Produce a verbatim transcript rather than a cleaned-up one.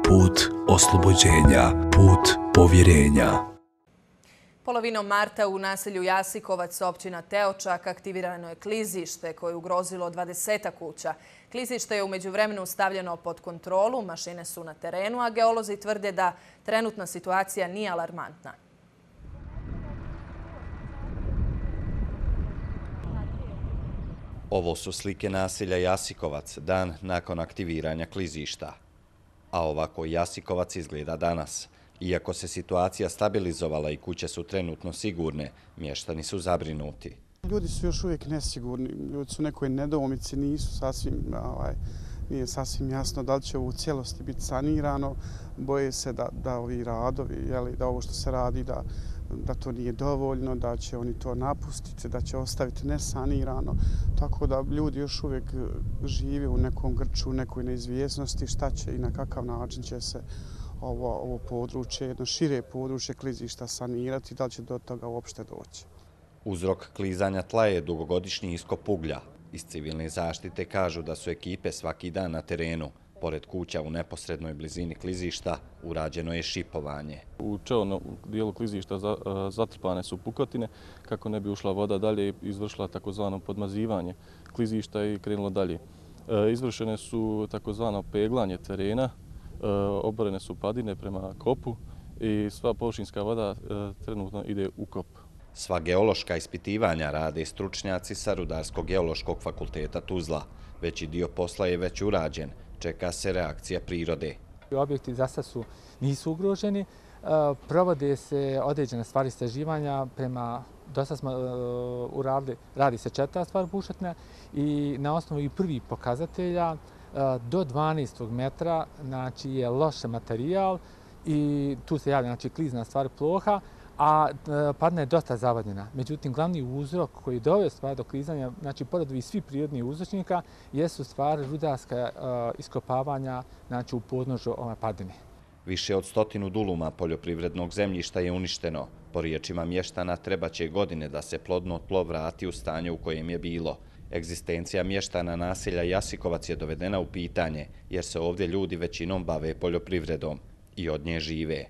put oslobođenja, put povjerenja. Polovinom marta u naselju Jasikovac, općina Teočak, aktivirano je klizište koje je ugrozilo dvadesetak kuća. Klizište je u međuvremenu stavljeno pod kontrolu, mašine su na terenu, a geolozi tvrde da trenutna situacija nije alarmantna. Ovo su slike naselja Jasikovac dan nakon aktiviranja klizišta. A ovako Jasikovac izgleda danas. Iako se situacija stabilizovala i kuće su trenutno sigurne, mještani su zabrinuti. Ljudi su još uvijek nesigurni, ljudi su u nekoj nedoumici, nisu sasvim, ovaj, nije sasvim jasno da li će ovo u cijelosti biti sanirano. Boje se da, da ovi radovi, jeli, da ovo što se radi, da, da to nije dovoljno, da će oni to napustiti, da će ostaviti nesanirano. Tako da ljudi još uvijek žive u nekom grču, u nekoj neizvjesnosti šta će i na kakav način će se ovo, ovo područje, jedno šire područje klizišta sanirati, da li će do toga uopšte doći. Uzrok klizanja tla je dugogodišnji iskop uglja. Iz civilne zaštite kažu da su ekipe svaki dan na terenu. Pored kuća u neposrednoj blizini klizišta urađeno je šipovanje. U čelnom dijelu klizišta zatrpane su pukotine kako ne bi ušla voda dalje i izvršila takozvano podmazivanje klizišta i krenulo dalje. Izvršene su takozvano peglanje terena, oborene su padine prema kopu i sva površinska voda trenutno ide u kop. Sva geološka ispitivanja rade stručnjaci sa Rudarsko-geološkog fakulteta Tuzla. Veći dio posla je već urađen. Čeka se reakcija prirode. Objekti za sad su, nisu ugroženi. Provode se određene stvari istraživanja prema, do sad smo uradili, radi se četvrta stvar bušotna i na osnovu i prvih pokazatelja do dvanaestog metra znači, je loš materijal i tu se javlja znači, klizna stvar ploha, a padna je dosta zavodnjena. Međutim, glavni uzrok koji doveo stvar do klizanja, znači pored ovih svih prirodnih uzročnika, jesu stvari rudarska iskopavanja znači, u podnožju ove padine. Više od stotinu duluma poljoprivrednog zemljišta je uništeno. Po riječima mještana treba će godine da se plodno tlo vrati u stanje u kojem je bilo. Egzistencija mještana naselja Jasikovac je dovedena u pitanje jer se ovdje ljudi većinom bave poljoprivredom i od nje žive.